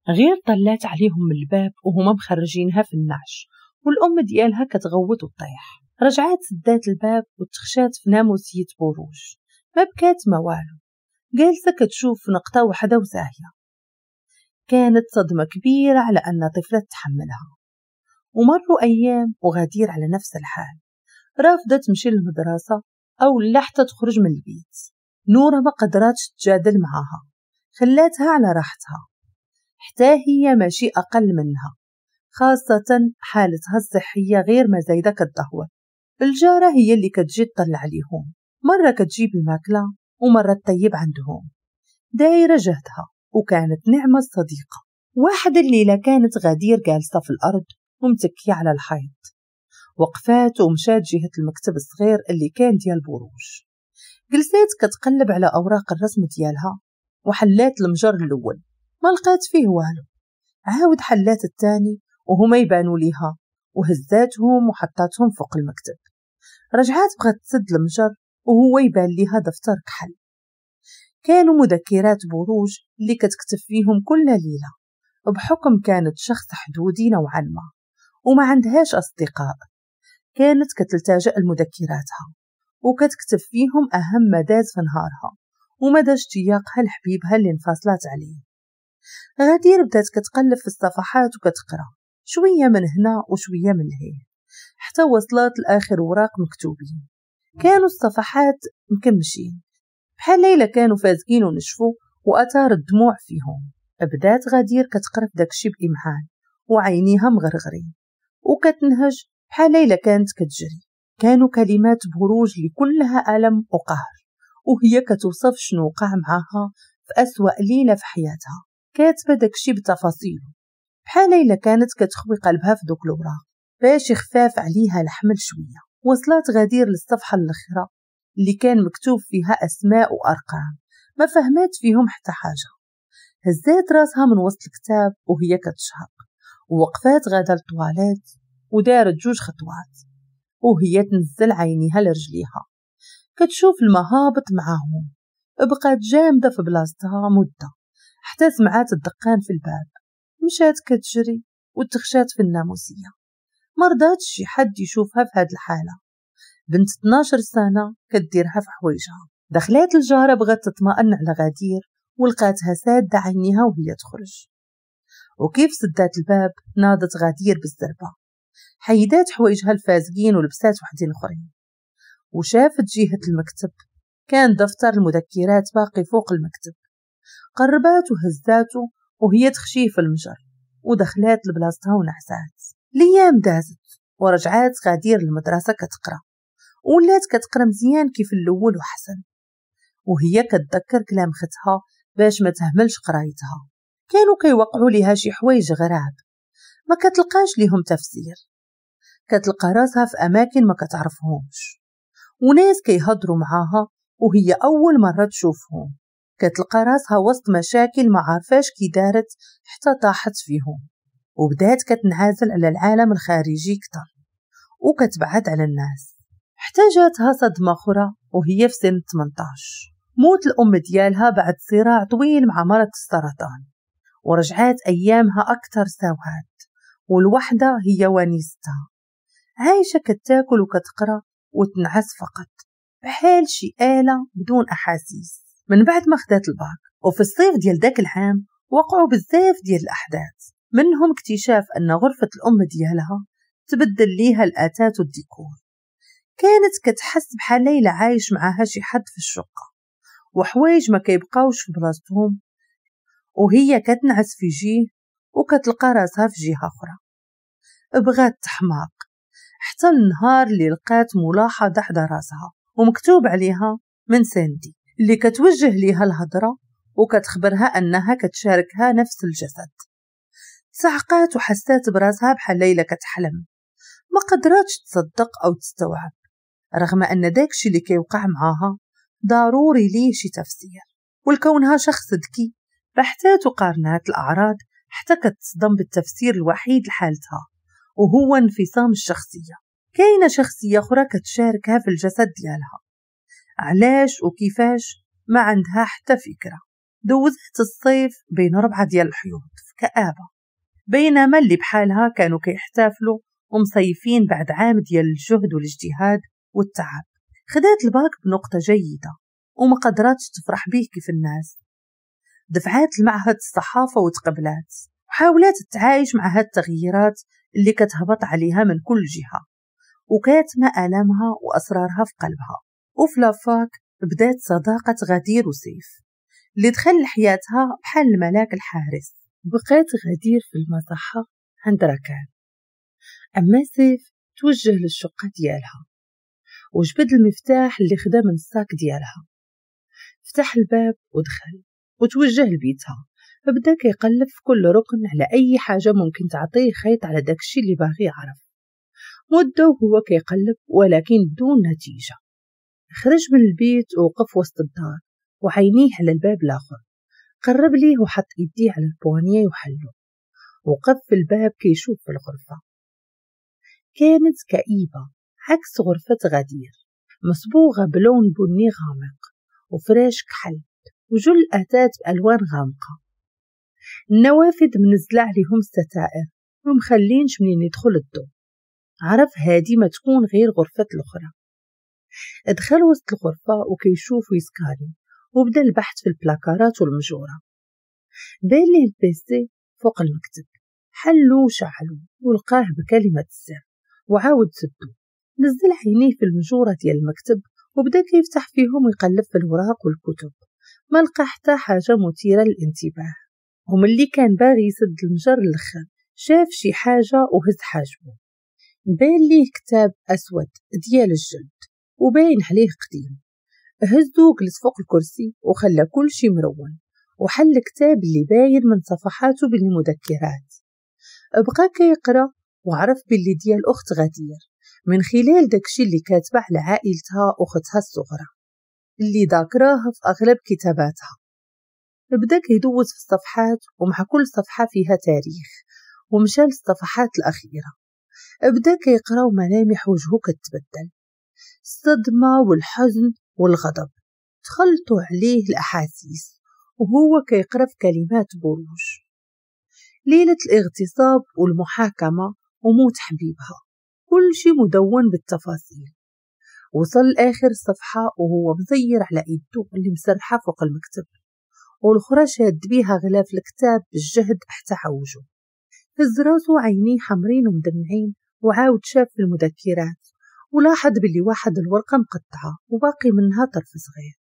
غير طلات عليهم من الباب وهما مخرجينها في النعش والأم ديالها كتغوت وتطيح. رجعات سدات الباب وتخشات في ناموسية بروج، ما بكات ما والو، جالسة كتشوف في نقطة واحدة وساهية. كانت صدمة كبيرة على أن طفلة تحملها. ومروا أيام وغدير على نفس الحال، رافضة تمشي للمدرسة أو لا حتى تخرج من البيت. نورة ما قدراتش تجادل معاها، خلاتها على راحتها، حتى هي ماشي أقل منها، خاصة حالتها الصحية غير ما زايدة كتدهور. الجارة هي اللي كتجي تطلع عليهم، مرة كتجيب الماكلة ومرة تطيب عندهم، دايرة جهدها، وكانت نعمة الصديقة. واحد الليلة كانت غدير جالسة في الأرض ومتكية على الحيط، وقفات ومشات جهة المكتب الصغير اللي كان ديال بروج. جلسات كتقلب على أوراق الرسم ديالها وحلات المجر الأول، ما لقات فيه والو. عاود حلات الثاني وهما يبانوا ليها، وهزاتهم وحطاتهم فوق المكتب. رجعات بغات تسد المجر وهو يبان ليها دفتر كحل. كانوا مذكرات بروج اللي كتكتب فيهم كل ليلة، بحكم كانت شخص حدودي نوعا ما وما عندهاش أصدقاء، كانت كتلتجأ لمذكراتها وكتكتب فيهم أهم ما داز في نهارها ومدى اشتياقها لحبيبها اللي انفصلت عليه. غدير بدات كتقلب في الصفحات وكتقرا شوية من هنا وشوية من لهيه، حتى وصلت لآخر وراق مكتوبين. كانوا الصفحات مكمشين بحال ليلى كانوا فازقين ونشفوا وأثار الدموع فيهم. بدات غدير كتقرا في داكشي بإمعان وعينيها مغرغرين وكتنهج بحال ليلى كانت كتجري. كانوا كلمات بروج اللي كلها ألم وقهر، وهي كتوصف شنو وقع معاها في أسوأ ليلة في حياتها. كاتبة داكشي بتفاصيله بحال ليلى كانت كتخوي قلبها في دوك الأوراق باش يخفاف عليها الحمل شوية. وصلت غدير للصفحة الأخرى اللي كان مكتوب فيها أسماء وأرقام ما فهمات فيهم حتى حاجة. هزات راسها من وسط الكتاب وهي كتشهق، ووقفات غدا للطواليت ودارت جوج خطوات وهي تنزل عينيها لرجليها كتشوف المهابط معاهم. بقات جامدة في بلاصتها مدة حتى سمعات الدقان في الباب. مشات كتجري وتخشات في الناموسية، مرضاتش شي حد يشوفها في هاد الحالة. بنت 12 سنة كديرها في حوايجها. دخلات الجارة بغات تطمئن على غدير ولقاتها سادة عينيها وهي تخرج. وكيف سدات الباب ناضت غدير بالزربة، حيدات حوايجها الفازقين ولبسات وحدين اخرين، وشافت جهة المكتب كان دفتر المذكرات باقي فوق المكتب. قربات وهزاته وهي تخشيه في المجر ودخلات لبلاصتها ونعسات. ليام دازت ورجعات غدير للمدرسة كتقرا، ولات كتقرا مزيان كيف الأول وحسن، وهي كتذكر كلام ختها باش ما تهملش قرايتها. كانوا كيوقعوا ليها شي حوايج غراب ما كتلقاش ليهم تفسير، كتلقى راسها في أماكن ما كتعرفهمش وناس كيهضروا معاها وهي أول مرة تشوفهم. كتلقى راسها وسط مشاكل ما عارفاش كي دارت حتى طاحت فيهم، وبدات كتنعزل على العالم الخارجي كتر وكتبعد على الناس. حتى جاتها صدمة أخرى وهي في سن 18، موت الأم ديالها بعد صراع طويل مع مرض السرطان، ورجعات أيامها أكثر سواد والوحدة هي ونيستها. عايشة كتاكل وكتقرأ وتنعس فقط بحال شي آلة بدون أحاسيس. من بعد ما خدات الباك وفي الصيف ديال داك العام وقعوا بزاف ديال الأحداث، منهم اكتشاف أن غرفة الأم ديالها تبدل ليها الأثاث والديكور. كانت كتحس بحال ليلى عايش معاها شي حد في الشقة وحوايج ما كيبقاوش في بلاصتهم، وهي كتنعس في جيه وكتلقى راسها في جهة أخرى. بغات تحماق حتى النهار اللي لقات ملاحظة حدا راسها ومكتوب عليها من ساندي اللي كتوجه ليها الهضرة وكتخبرها أنها كتشاركها نفس الجسد. صعقات وحسات براسها بحال ليلى كتحلم، ما قدراتش تصدق أو تستوعب، رغم أن داكشي اللي كيوقع معاها ضروري ليه شي تفسير. ولكونها شخص ذكي بحثات وقارنات الأعراض حتى كتصدم بالتفسير الوحيد لحالتها وهو انفصام الشخصية. كاينة شخصية أخرى كتشاركها في الجسد ديالها، علاش وكيفاش ما عندها حتى فكرة. دوزت الصيف بين 4 ديال الحيوط في كآبة، بينما اللي بحالها كانوا كيحتفلوا ومصيفين بعد عام ديال الجهد والاجتهاد والتعب. خدات الباك بنقطة جيدة وما قدراتش تفرح به كيف الناس. دفعات المعهد الصحافة وتقبلات، وحاولات تتعايش مع هاد التغييرات اللي كتهبط عليها من كل جهة، وكاتمة آلامها وأسرارها في قلبها. وفي la fac بدات صداقة غدير وسيف اللي دخل لحياتها بحال الملاك الحارس. بقات غدير في المصحة عند ركان، أما سيف توجه للشقة ديالها وجبد المفتاح اللي خدا من ال sac ديالها، فتح الباب ودخل وتوجه لبيتها. بدا كيقلب في كل ركن على أي حاجة ممكن تعطيه خيط على داكشي اللي باغي يعرف. مدة وهو كيقلب ولكن بدون نتيجة. خرج من البيت ووقف وسط الدار وعينيه على الباب الآخر. قرب ليه وحط يديه على ال poignée وحلو، وقف في الباب كيشوف في الغرفة. كانت كئيبة عكس غرفة غدير، مصبوغة بلون بني غامق وفراش كحل وجل أثاث بألوان غامقة. النوافذ منزلة عليهم الستائر ومخلينش منين يدخل الضوء. عرف هادي ما تكون غير غرفة الأخرى. ادخل وسط الغرفة وكيشوف ويسكاري، وبدا البحث في البلاكارات والمجورة. بان ليه ال PC فوق المكتب، حلو وشعلو ولقاه بكلمة السر وعاود سدو. نزل عينيه في المجورة ديال المكتب وبدا كيفتح فيهم ويقلب في الوراق والكتب، ما لقى حتى حاجة مثيرة للانتباه. وملي كان باغي يسد المجر الاخر شاف شي حاجة وهز حاجبه. بان ليه كتاب أسود ديال الجلد وباين عليه قديم. هزو وجلس فوق الكرسي وخلى كل شي مرون، وحل الكتاب اللي باين من صفحاته بالمذكرات. بقى كيقرا وعرف باللي ديال أخت غدير من خلال داكشي اللي كاتبه على عائلتها أختها الصغرى اللي ذاكراها في أغلب كتاباتها. بدا كيدوز في الصفحات ومع كل صفحة فيها تاريخ، ومشى للصفحات الأخيرة. بدا كيقرا وملامح وجهه كتبدل، الصدمة والحزن والغضب تخلطوا عليه الأحاسيس وهو كيقرا في كلمات بروج. ليلة الاغتصاب والمحاكمة وموت حبيبها، كل شي مدون بالتفاصيل. وصل لآخر صفحة وهو مزير على إيده اللي مسرحة فوق المكتب، والأخرى شاد بيها غلاف الكتاب بالجهد حتى عوجه. هز راسو عينيه حمرين ومدمعين وعاود شاف في المذكرات ولاحظ باللي واحد الورقة مقطعة وباقي منها طرف صغير.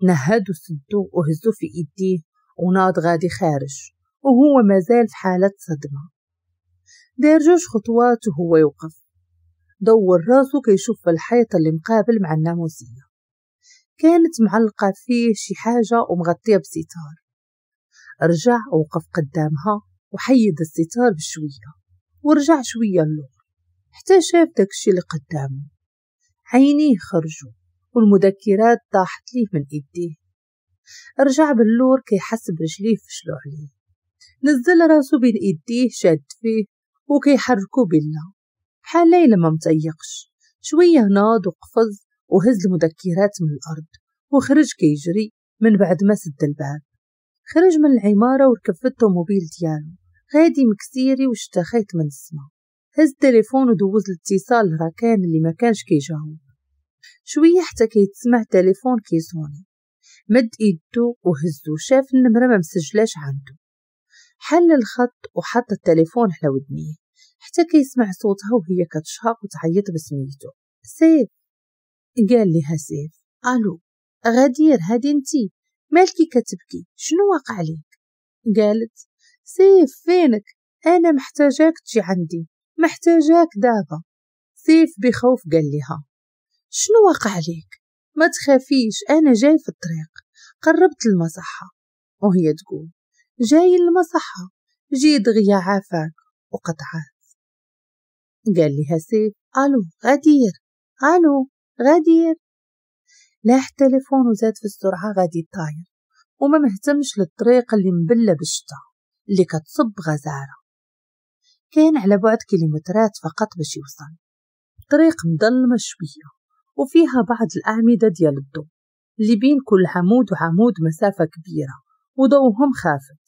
نهد وسدو وهزو في إيديه وناض غادي خارج وهو مازال في حالة صدمة. دار جوج خطوات وهو يوقف، دور راسو كيشوف في الحيط اللي مقابل مع الناموسية، كانت معلقة فيه شي حاجة ومغطية بستار. رجع ووقف قدامها وحيد الستار بشوية ورجع شوية اللور حتى شاف داكشي اللي قدامه. عينيه خرجوا والمذكرات طاحت ليه من ايديه. رجع باللور كيحس برجليه فشلو عليه. نزل راسو بين ايديه شاد فيه وكيحركو بالله بحال ليلى ما متيقش. شوية ناض وقفز وهز المذكرات من الارض وخرج كيجري من بعد ما سد الباب. خرج من العمارة وركب في الطوموبيل ديالو غادي مكسيري وشتا خيط من السما. هز التليفون ودوز الاتصال لراكان اللي ما كانش كيجاوب. شوية حتى كيتسمع تليفون كيصوني. مد ايدو وهزو، شاف النمرة ما مسجلاش عنده. حل الخط وحط التليفون على ودنيه حتى كيسمع صوتها وهي كتشهق وتعيط بسميتو. سيف. قال لها سيف: الو غدير، هادي انتي، مالكي كتبكي، شنو واقع ليك؟ قالت: سيف فينك، انا محتاجاك تجي عندي، محتاجاك دابا. سيف بخوف قال لها: شنو واقع ليك؟ ما تخافيش، انا جاي في الطريق، قربت المصحة. وهي تقول: جاي المصحة، جي دغيا عافاك. وقطعات. قال لها سيف: الو غدير، الو غدير. لاح التليفون وزاد في السرعة غادي طاير وما مهتمش للطريق اللي مبلة بالشتا اللي كتصب غزارة. كان على بعد كيلومترات فقط باش يوصل. الطريق مظلمة شوية وفيها بعض الأعمدة ديال الضوء اللي بين كل عمود وعمود مسافة كبيرة وضوهم خافت.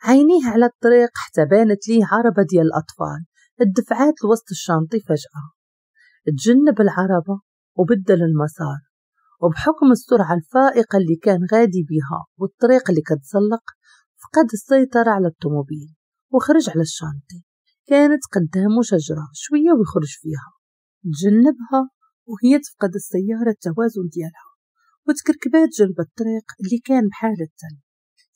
عينيه على الطريق حتى بانت ليه عربة ديال الأطفال الدفعات لوسط ال chantier. فجأة تجنب العربة وبدل المسار، وبحكم السرعة الفائقة اللي كان غادي بها والطريق اللي كتزلق فقد السيطرة على الطوموبيل وخرج على ال chantier. كانت قدامه شجرة شوية ويخرج فيها، تجنبها وهي تفقد السيارة التوازن ديالها وتكركبات جنب الطريق اللي كان بحال التل.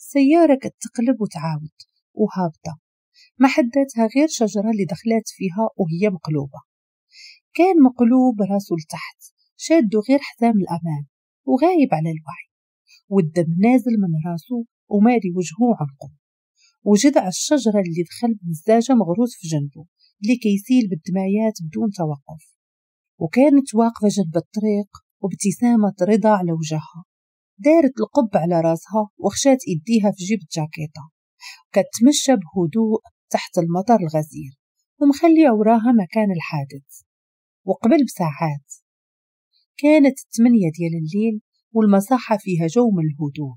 السيارة كتقلب وتعاود وهابطة، ما حداتها غير شجرة اللي دخلات فيها وهي مقلوبة. كان مقلوب راسه لتحت، شادو غير حزام الأمان وغايب على الوعي، والدم نازل من راسه ومالي وجهه وعنقه، وجدع الشجرة اللي دخل من الزاجة مغروس في جنبه اللي كيسيل بالدمايات بدون توقف. وكانت واقفة جنب الطريق وابتسامة رضا على وجهها، دارت القب على راسها وخشات ايديها في جيب الجاكيطة، كتمشى بهدوء تحت المطر الغزير ومخلية وراها مكان الحادث. وقبل بساعات كانت 8 ديال الليل والمساحة فيها جو من الهدوء.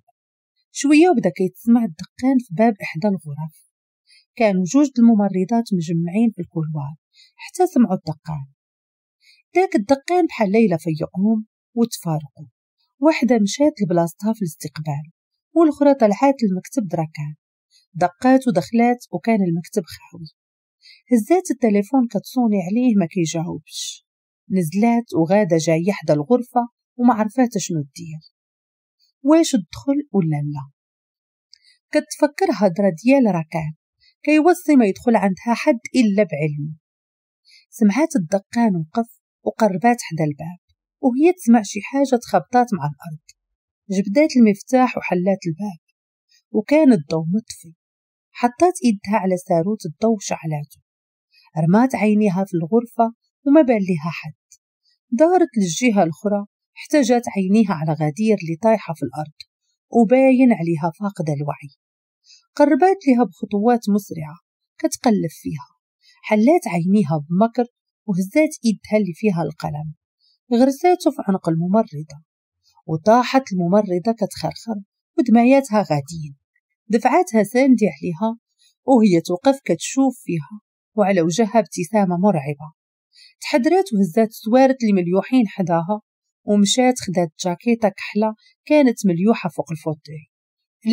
شوية وبدا كيتسمع الدقان في باب إحدى الغرف. كانوا جوج الممرضات مجمعين في ال couloir حتى سمعوا الدقان. داك الدقان بحال ليلى فيقهم وتفارقوا. واحدة مشات لبلاصتها في الاستقبال والأخرى طلعات المكتب دركان. دقات ودخلات وكان المكتب خاوي. هزات التليفون كتصوني عليه ما كيجاوبش. نزلات وغادة جاية حدا الغرفة وما عرفات شنو دير، واش تدخل ولا لا. كتفكر هضرة ديال ركان كيوصي ما يدخل عندها حد إلا بعلمه. سمعات الدقان وقف وقربات حدا الباب وهي تسمع شي حاجة تخبطات مع الأرض. جبدات المفتاح وحلات الباب وكان الضوء مطفي. حطات ايدها على ساروت الضوء وشعلاته. رمات عينيها في الغرفة وما بان لها حد. دارت للجهة الأخرى حتى جات عينيها على غدير اللي طايحة في الأرض وباين عليها فاقدة الوعي. قربات لها بخطوات مسرعة كتقلب فيها. حلات عينيها بمكر وهزات ايدها اللي فيها القلم، غرساته في عنق الممرضة وطاحت الممرضة كتخرخر ودماياتها غاديين. دفعاتها ساندي عليها وهي توقف كتشوف فيها وعلى وجهها ابتسامة مرعبة. تحدرات وهزات السوارت اللي مليوحين حداها ومشات خدات جاكيطة كحلة كانت مليوحة فوق ال fauteuil،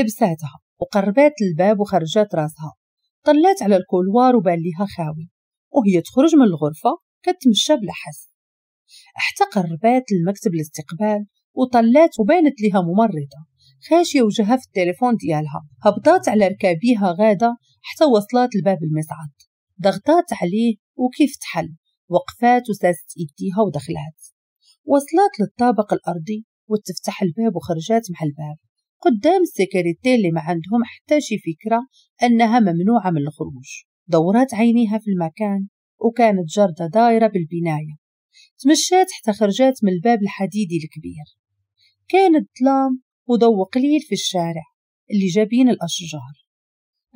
لبساتها وقربات الباب وخرجات راسها. طلات على ال couloir وبان ليها خاوي وهي تخرج من الغرفة كتمشى بلا حس. حتى قربات المكتب الاستقبال وطلات وبانت لها ممرضة خاشية وجهها في التليفون ديالها. هبطات على ركابيها غادة حتى وصلات لباب المصعد، ضغطات عليه وكيف تحل وقفات وساست ايديها ودخلات. وصلت للطابق الأرضي وتفتح الباب وخرجات مع الباب قدام ال sécurité اللي ما عندهم حتى شي فكرة أنها ممنوعة من الخروج. دورات عينيها في المكان وكانت جردة دايرة بالبناية. تمشات حتى خرجات من الباب الحديدي الكبير. كان الظلام وضوء قليل في الشارع اللي جابين الأشجار.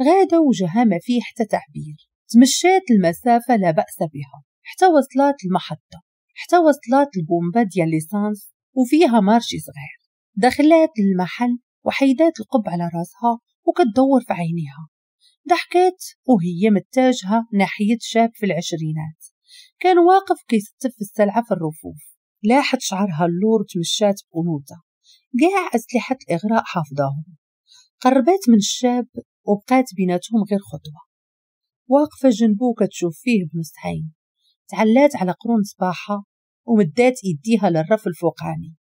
غادة وجهها ما فيه حتى تعبير. تمشات المسافة لا بأس بها حتى وصلت المحطة، حتى وصلت البومبا ديال l'essence وفيها marché صغير. دخلات المحل وحيدات القب على راسها وكتدور في عينيها. ضحكات وهي متجهة ناحية شاب في العشرينات كان واقف كيستف السلعة في الرفوف. لاحت شعرها اللور وتمشات بأنوثة، كاع أسلحة الإغراء حافظاهم. قربات من الشاب وبقات بيناتهم غير خطوة، واقفة جنبو كتشوف فيه بنص عين. تعلات على قرون صباحها ومدات ايديها للرف الفوقاني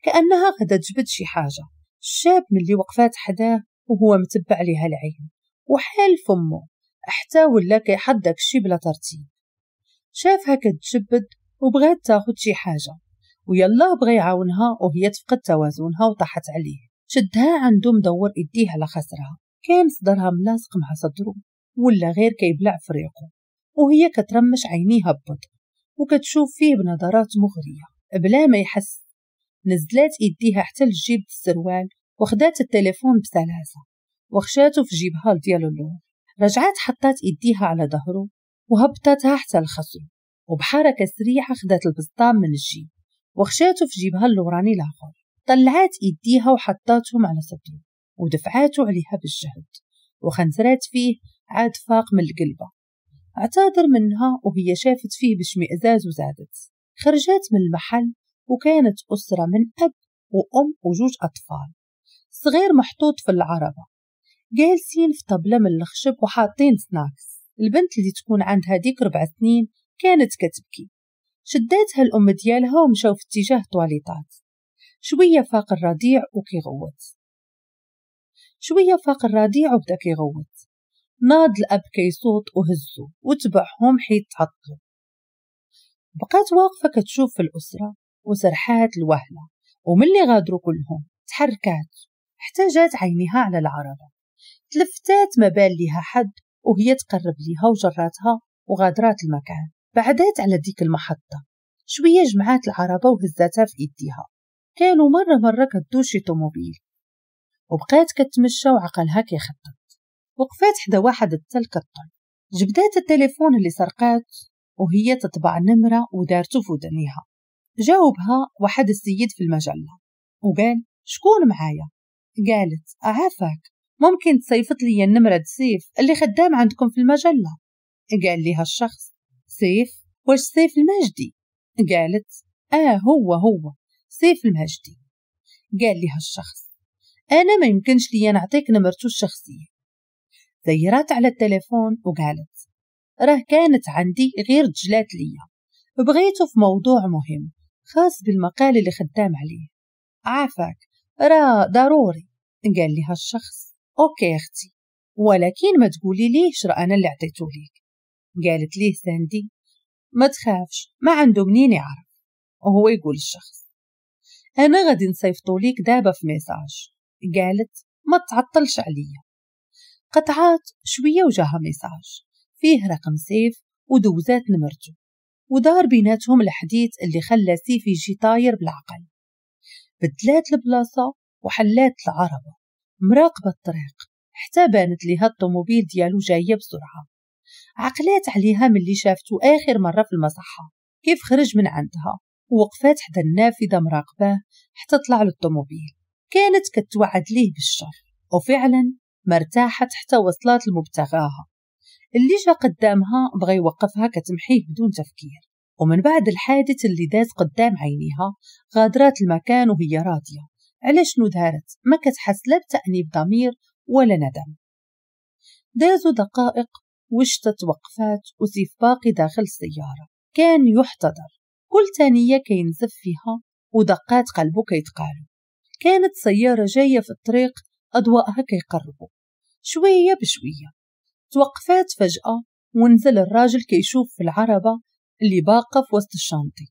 كأنها غدا تجبد شي حاجة. الشاب ملي وقفات حداه وهو متبع ليها العين وحال فمه حتى ولا كيحط داكشي بلا ترتيب. شافها كتجبد وبغات تاخد شي حاجة ويلا بغى يعاونها وهي تفقد توازنها وطاحت عليه. شدها عنده مدور ايديه على خسرها، كان صدرها ملاصق مع صدره ولا غير كيبلع فريقه، وهي كترمش عينيها ببطء وكتشوف فيه بنظرات مغرية بلا ما يحس. نزلات ايديها حتى لجيب السروال وخدات التليفون بسلاسة وخشاته في جيبها ديال اللور. رجعات حطات ايديها على ظهره وهبطتها حتى الخصر، وبحركة سريعة خدات البسطام من الجيب وخشاته في جيبها اللوراني الاخر. طلعات ايديها وحطاتهم على صدره ودفعاته عليها بالجهد وخنزرات فيه عاد فاق من القلبة. اعتذر منها وهي شافت فيه باشمئزاز وزادت. خرجات من المحل وكانت أسرة من أب وأم وجوج أطفال صغير محطوط في العربة، جالسين في طبلة من الخشب وحاطين snacks. البنت اللي تكون عندها ديك 4 سنين كانت كتبكي، شداتها الأم ديالها ومشاو في اتجاه طواليطات. شوية فاق الرضيع وكيغوت، شوية فاق الرضيع وبدا كيغوت. ناض الأب كيصوت وهزو وتبعهم حيت تعطلوا. بقات واقفة كتشوف في الأسرة وسرحات الوهلة، وملي غادروا كلهم تحركات حتى جات عينيها على العربة. تلفتات ما بان ليها حد وهي تقرب ليها وجراتها وغادرات المكان. بعدات على ديك المحطة شوية، جمعات العربة وهزاتها في ايديها. كانوا مرة مرة كدوز شي طوموبيل، وبقات كتمشى وعقلها كيخطط. وقفات حدا واحد التل كطل، جبدات التليفون اللي سرقات وهي تطبع نمرة ودارتو في ودنيها. جاوبها واحد السيد في المجلة وقال شكون معايا؟ قالت عافاك ممكن تصيفط لي النمرة سيف اللي خدام عندكم في المجلة؟ قال ليها الشخص سيف؟ واش سيف الماجدي؟ قالت هو سيف الماجدي. قال لها الشخص انا ما يمكنش لي نعطيك نمرته الشخصية. زيرات على التليفون وقالت راه كانت عندي غير تجلات ليا، بغيته في موضوع مهم خاص بالمقال اللي خدام عليه، عافاك راه ضروري. قال لها الشخص okay اختي، ولكن ما تقولي ليش راه انا اللي عطيته ليك. قالت ليه ساندي ما تخافش ما عنده منين يعرف. وهو يقول الشخص انا غادي نصيفطو ليك دابا في message. قالت ما تعطلش عليا. قطعات شويه وجاها message فيه رقم سيف ودوزات نمرته، ودار بيناتهم الحديث اللي خلى سيف يجي طاير بالعقل. بدلات البلاصه وحلات العربه مراقبه الطريق حتى بانت ليها الطوموبيل ديالو جايه بسرعه. عقلات عليها ملي شافتو اخر مره في المصحه كيف خرج من عندها، ووقفات حدا النافذه مراقباه حتى طلع للطوموبيل. كانت كتوعد ليه بالشر، وفعلا ما ارتاحت حتى وصلت لمبتغاها. اللي جا قدامها بغى يوقفها كتمحيه بدون تفكير. ومن بعد الحادث اللي داز قدام عينيها غادرات المكان وهي راضية على شنو دارت، ما كتحس لا بتأنيب ضمير ولا ندم. دازوا دقائق وشتا توقفات وسيف باقي داخل السيارة. كان يحتضر، كل ثانية كينزف فيها ودقات قلبه كيتقالو. كانت سيارة جاية في الطريق أضواءها كيقربوا شوية بشوية. توقفات فجأة ونزل الراجل كيشوف في العربة اللي باقة في وسط الشانطي.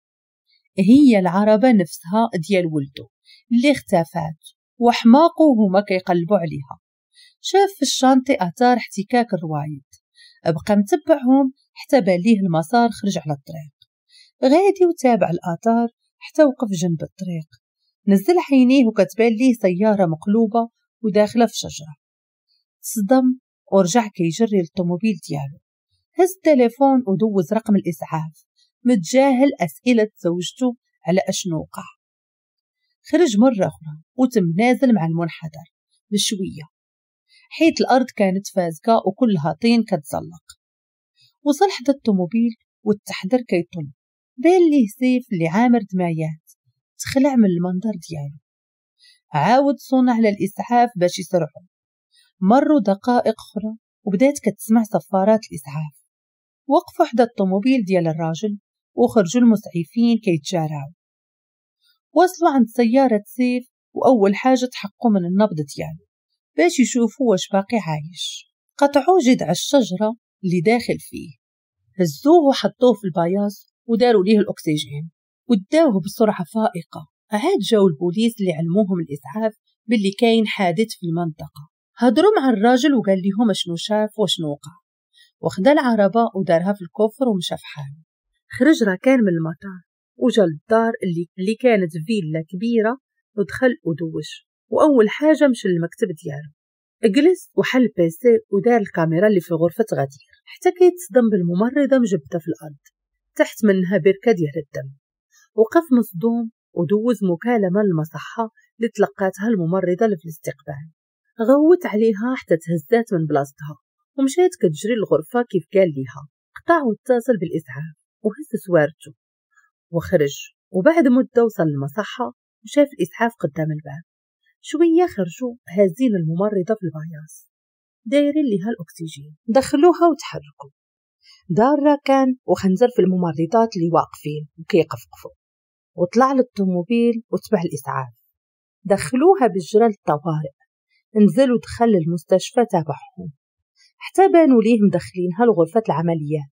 هي العربة نفسها ديال ولده اللي اختفات وحماقو هما كيقلبوا عليها. شاف في الشانطي آثار احتكاك الروايد، بقى متبعهم حتى باليه المسار خرج على الطريق. غادي وتابع الآثار حتى وقف جنب الطريق. نزل عينيه وكتبان ليه سيارة مقلوبة وداخلة في شجرة. تصدم ورجع كيجري للطوموبيل ديالو. هز التليفون ودوز رقم الإسعاف متجاهل أسئلة زوجته على أشنو وقع. خرج مرة أخرى وتم نازل مع المنحدر بشوية حيت الأرض كانت فازقة وكلها طين كتزلق. وصل حدا الطوموبيل والتحضر كيطل. بان ليه سيف اللي عامر دمايات، تخلع من المنظر ديالو. عاود صونع على الإسعاف باش يسرعوا. مروا دقائق أخرى وبدات كتسمع صفارات الإسعاف. وقفوا حدا الطوموبيل ديال الراجل وخرجوا المسعفين كيتجاراو. وصلوا عند سيارة سيف وأول حاجة تحققوا من النبض ديالو باش يشوفوا واش باقي عايش. قطعوا جذع الشجرة اللي داخل فيه، هزوه وحطوه في البياص وداروا ليه الأكسجين وداوه بسرعة فائقة. عاد جاو البوليس اللي علموهم الإسعاف باللي كاين حادث في المنطقة. هضروا مع الراجل وقال لهم شنو شاف وشنو وقع، وخدا العربة ودارها في ال coffre ومشى في حاله. خرج راكان من المطار وجا للدار اللي كانت فيلا كبيرة، ودخل ودوش، وأول حاجة مشى للمكتب ديالو. جلس وحل PC ودار الكاميرا اللي في غرفة غدير حتى كيتصدم بالممرضة مجبدة في الأرض تحت منها بركة ديال الدم. وقف مصدوم ودوز مكالمة للمصحة اللي تلقاتها الممرضة اللي في الاستقبال. غوت عليها حتى تهزات من بلاصتها ومشات كتجري للغرفة كيف قال ليها. قطع واتصل بالإسعاف وهز سوارته وخرج، وبعد مدة وصل للمصحة وشاف الإسعاف قدام الباب. شوية خرجوا هازين الممرضة في ال paillasse دايرين ليها الأكسجين، دخلوها وتحركوا. دار راكان وخنزر في الممرضات اللي واقفين وكيقفقفوا، وطلع للطوموبيل وتبع الإسعاف. دخلوها بالجرى للطوارئ، نزل ودخل للمستشفى تابعهم حتى بانوا ليه مدخلينها لغرفة العمليات.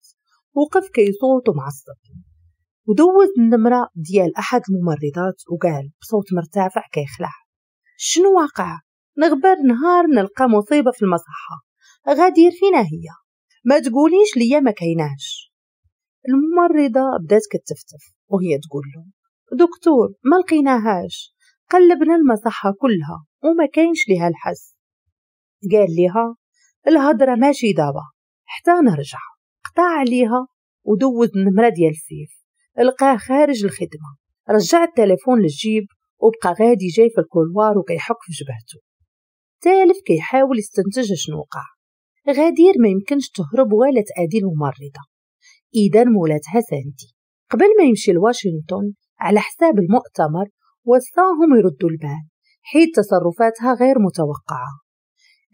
وقف كيصوت ومعصب ودوز النمرة ديال أحد الممرضات وقال بصوت مرتفع كيخلع: شنو واقع؟ نغبر نهار نلقى مصيبة في المصحة، غادير فينا هي، ما تقوليش ليا ما كايناش. الممرضة بدات كتفتف وهي تقول له: دكتور ما لقيناهاش، قلبنا المصحة كلها وما كاينش ليها الحس. قال ليها: الهضرة ماشي دابا حتى نرجع. قطع عليها ودوز النمرة ديال سيف، لقاه خارج الخدمة. رجع التليفون للجيب وبقى غادي جاي في ال couloir وكيحك في جبهته، تالف كيحاول يستنتج شنو وقع. غادير ما يمكنش تهرب ولا تأذي الممرضة، إذا مولاتها ساندي. قبل ما يمشي لواشنطن على حساب المؤتمر وصاهم يردوا البال حيت تصرفاتها غير متوقعة.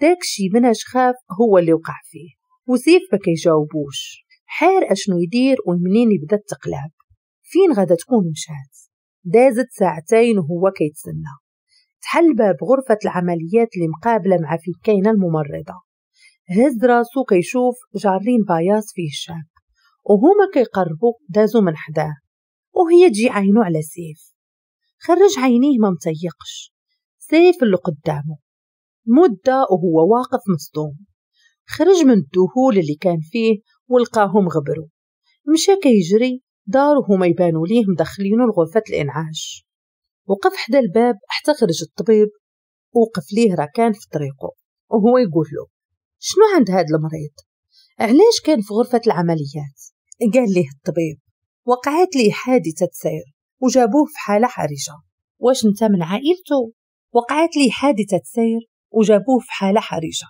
داكشي مناش خاف هو اللي وقع فيه، وسيف ما كيجاوبوش، حار اشنو يدير ومنين يبدا التقلاب، فين غادا تكون مشات. دازت ساعتين وهو كيتسنى. تحل باب غرفة العمليات اللي مقابلة مع فين كاينة الممرضة. هز راسو كيشوف جارين paillasse فيه الشاب، وهما كيقربوا دازو من حداه وهي تجي عينو على سيف. خرج عينيه ما متيقش، سيف اللي قدامه. مدة وهو واقف مصدوم، خرج من الذهول اللي كان فيه ولقاهم غبروا. مشى كيجري دار وهما يبانوا ليه مدخلينه لغرفة الإنعاش. وقف حدا الباب حتى خرج الطبيب، وقف ليه ركان في طريقه وهو يقول له: شنو عند هاد المريض؟ علاش كان في غرفة العمليات؟ قال ليه الطبيب: وقعت ليه حادثة سير وجابوه في حالة حرجة. واش انت من عائلته؟ وقعت ليه حادثة سير وجابوه في حالة حرجة.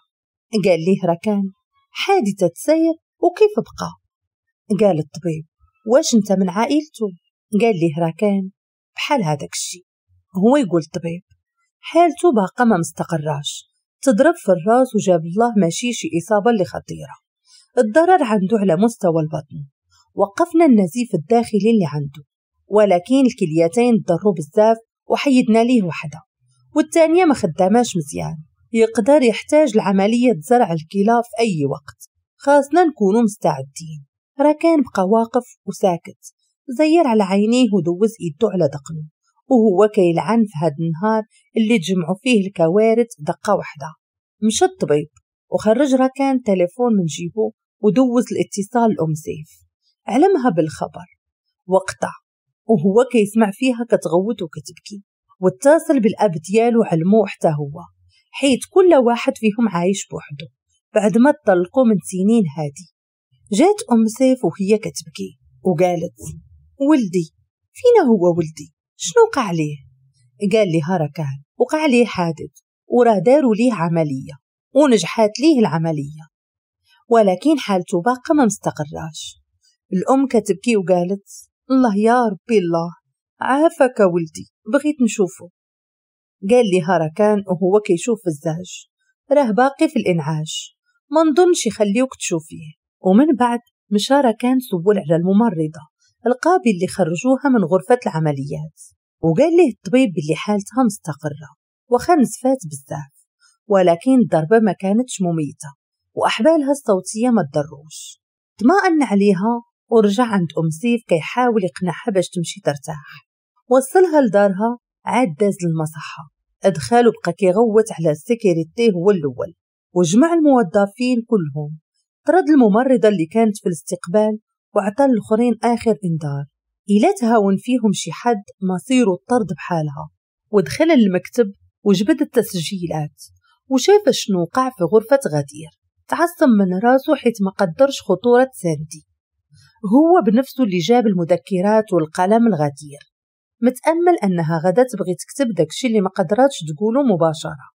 قال ليه ركان: حادثة سير وكيف بقى؟ قال الطبيب: واش انت من عائلته؟ قال ليه ركان: بحال هذاك الشيء. هو يقول الطبيب: حالته باقا ما مستقراش، تضرب في الراس وجاب الله ماشي شي إصابة اللي خطيرة، الضرر عنده على مستوى البطن، وقفنا النزيف الداخلي اللي عنده، ولكن الكليتين تضروا بزاف وحيدنا ليه وحده، والثانية ما خداماش مزيان، يقدر يحتاج لعملية زرع الكلى في أي وقت، خاصنا نكونوا مستعدين. ركان بقى واقف وساكت، زير على عينيه ودوز ايده على دقنه وهو كيلعن في هاد النهار اللي تجمعوا فيه الكوارث دقة واحدة. مشى الطبيب وخرج ركان تليفون من جيبه ودوز الاتصال لأم سيف، علمها بالخبر وقطع وهو كيسمع فيها كتغوت وكتبكي. واتصل بالأب ديالو علمو حتى هو، حيت كل واحد فيهم عايش بوحده بعد ما تطلقوا من سنين هادي. جات أم سيف وهي كتبكي وقالت: ولدي فينا هو ولدي، شنو وقع ليه؟ قال لها ركان: وقع ليه حادث وراه داروا ليه عملية ونجحات ليه العملية، ولكن حالته باقا ما مستقراش. الأم كتبكي وقالت: الله يا ربي الله، عافاك ولدي، بغيت نشوفه. قال لها ركان وهو كيشوف في الزاج: راه باقي في الإنعاش، ما نظنش يخليوك تشوفيه. ومن بعد مشى ركان سول على الممرضة القابل اللي خرجوها من غرفة العمليات، وقال له الطبيب باللي حالتها مستقرة وخا نزفات بزاف، ولكن الضربة ما كانتش مميتة وأحبالها الصوتية ما تضروش. طمأن عليها ورجع عند أم سيف كيحاول يقنعها باش تمشي ترتاح. وصلها لدارها، عاد داز للمصحة، ادخل وبقى كيغوت على ال sécurité هو الأول، وجمع الموظفين كلهم، طرد الممرضة اللي كانت في الاستقبال وعطى الاخرين آخر إنذار إلا تهاون فيهم شي حد مصيره الطرد بحالها. ودخل المكتب وجبد التسجيلات وشاف شنو وقع في غرفة غدير. تعصب من راسه حيت ما قدرش خطورة ساندي، هو بنفسه اللي جاب المذكرات والقلم الغدير، متأمل أنها غدا تبغي تكتب داكشي اللي ما قدراتش تقوله مباشرة.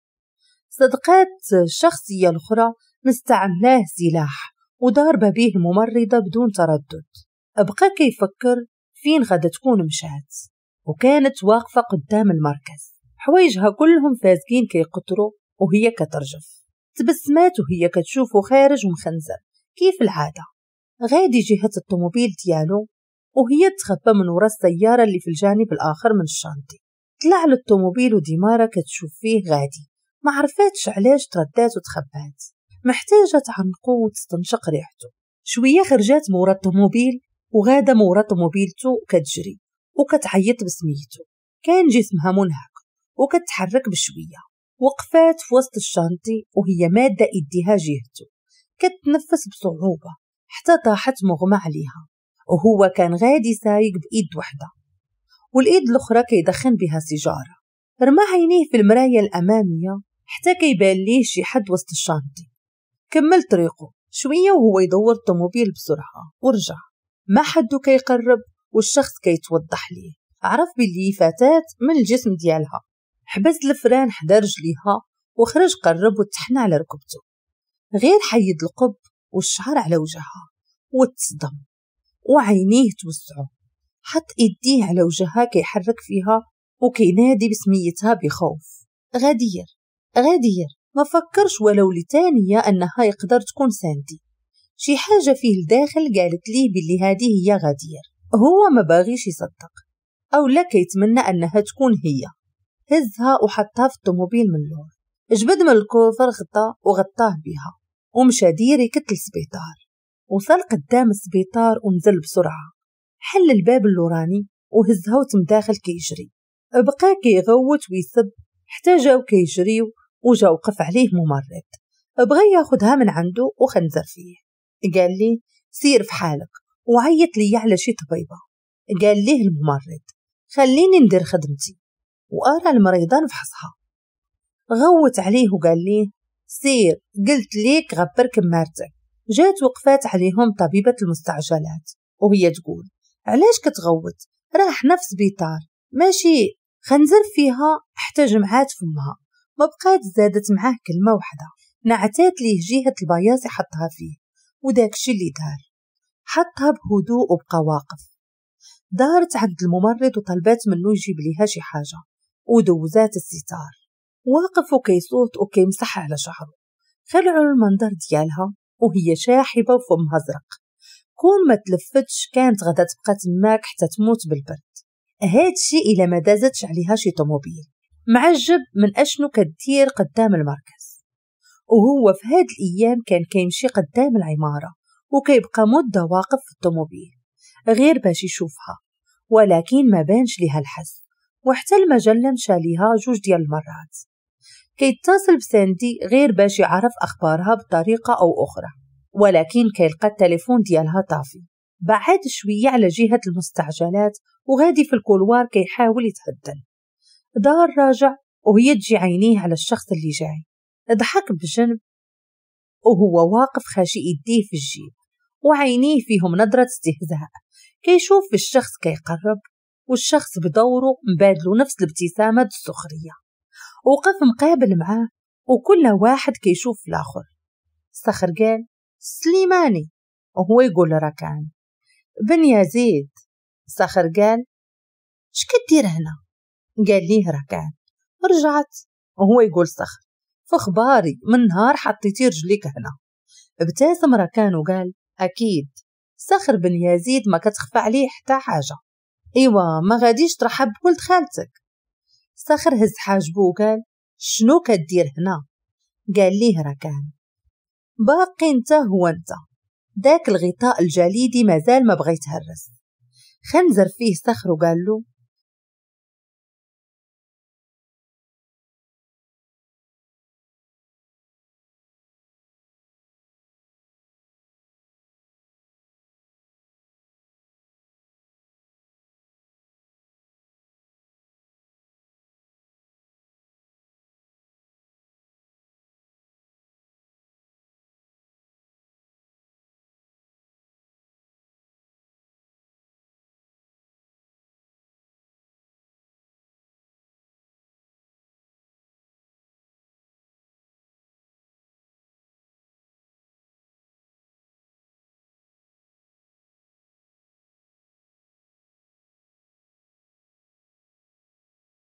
صدقات الشخصية الأخرى مستعملاه سلاح وضاربة به الممرضة بدون تردد. بقى كيفكر فين غادا تكون مشات، وكانت واقفة قدام المركز، حوايجها كلهم فازقين كيقطروا وهي كترجف. تبسمات وهي كتشوفه خارج ومخنزر كيف العادة، غادي جهة الطوموبيل ديالو، وهي تخبى من وراء السيارة اللي في الجانب الآخر من ال chantier. طلع للطوموبيل وديمارة كتشوف فيه غادي، ما عرفاتش علاش تردات وتخبات، محتاجة تعنقو وتستنشق ريحته. شوية خرجات مورا الطوموبيل وغاده مورا طوموبيلته كتجري وكتعيط بسميتو. كان جسمها منهك وكتحرك بشوية. وقفات في وسط ال chantier وهي مادة ايديها جهته، كتنفس بصعوبة حتى طاحت مغمى عليها، وهو كان غادي سايق بإيد وحدة والإيد الأخرى كيدخن بها سيجارة. رمى عينيه في المراية الأمامية حتى كيبان ليه شي حد وسط ال chantier. كمل طريقه شوية وهو يدور الطوموبيل بسرعة ورجع. ما حدو كيقرب والشخص كيتوضح ليه، عرف باللي فتاة من الجسم ديالها. حبس ال frein حدا رجليها وخرج قرب وتحنى على ركبته، غير حيد القب والشعر على وجهها وتصدم وعينيه توسعوا. حط ايديه على وجهها كيحرك فيها وكينادي بسميتها بخوف، غدير غدير. ما فكرش ولو لثانية انها يقدر تكون ساندي. شي حاجة فيه الداخل قالت ليه باللي هذه هي غدير. هو ما باغيش يصدق او لا كيتمنى انها تكون هي. هزها وحطها في الطوموبيل من اللور، جبد من ال coffre غطا وغطاه بها ومشى direct للسبيطار. وصل قدام السبيطار ونزل بسرعة، حل الباب اللوراني وهزها وتم داخل كيجري. بقى كيغوت ويسب حتى جاو كيجريو وجا وقف عليه ممرض، بغى ياخدها من عنده وخنزر فيه. قال لي سير في حالك وعيط لي على شي طبيبة. قال ليه الممرض خليني ندير خدمتي وأرى المريضة نفحصها. غوت عليه وقال ليه سير، قلت ليك غبر كمارتك. جات وقفات عليهم طبيبة المستعجلات وهي تقول علاش كتغوت، راه حنا في سبيطار ماشي. خنزر فيها حتى جمعات فمها، ما بقات زادت معاه كلمة واحدة. نعتات ليه جهة البياص حطها فيه وداكشي اللي دار، حطها بهدوء وبقى واقف. دارت عند الممرض وطلبات منه يجيب ليها شي حاجة ودوزات الستار. واقف وكيصوت وكيمسح على شعره، خلعوا المنظر ديالها وهي شاحبة وفمها زرق. كون ما تلفتش كانت غدا تبقى تماك حتى تموت بالبرد. هادشي إلا ما دازتش عليها شي طوموبيل. معجب من أشنو كدير قدام المركز، وهو في هاد الأيام كان كيمشي قدام العمارة وكيبقى مدة واقف في الطوموبيل غير باش يشوفها، ولكن ما بانش ليها الحس. وحتى المجلة مشى ليها 2 ديال المرات. كيتصل بساندي غير باش يعرف أخبارها بطريقة أو أخرى، ولكن كيلقى التليفون ديالها طافي. بعد شوية على جهة المستعجلات وغادي في ال couloir كيحاول يتهدن. دار راجع وهي تجي عينيه على الشخص اللي جاي. ضحك بجنب وهو واقف خاشي يديه في الجيب وعينيه فيهم نظرة استهزاء. كيشوف في الشخص كيقرب والشخص بدوره مبادلو نفس الابتسامة السخرية. وقف مقابل معاه وكل واحد كيشوف في الآخر. صخر قال سليماني وهو يقول ركان بن يزيد. صخر قال اش كدير هنا؟ قال ليه ركان رجعت، وهو يقول صخر فخباري من نهار حطيتي رجليك هنا. ابتسم ركان وقال اكيد صخر بن يزيد ما كتخفى عليه حتى حاجه. ايوا ما غاديش ترحب بولد خالتك. صخر هز حاجبه وقال شنو كدير هنا؟ قال ليه ركان باقي انت هو انت، داك الغطاء الجليدي مازال ما بغى يتهرس. خنزر فيه صخر وقال له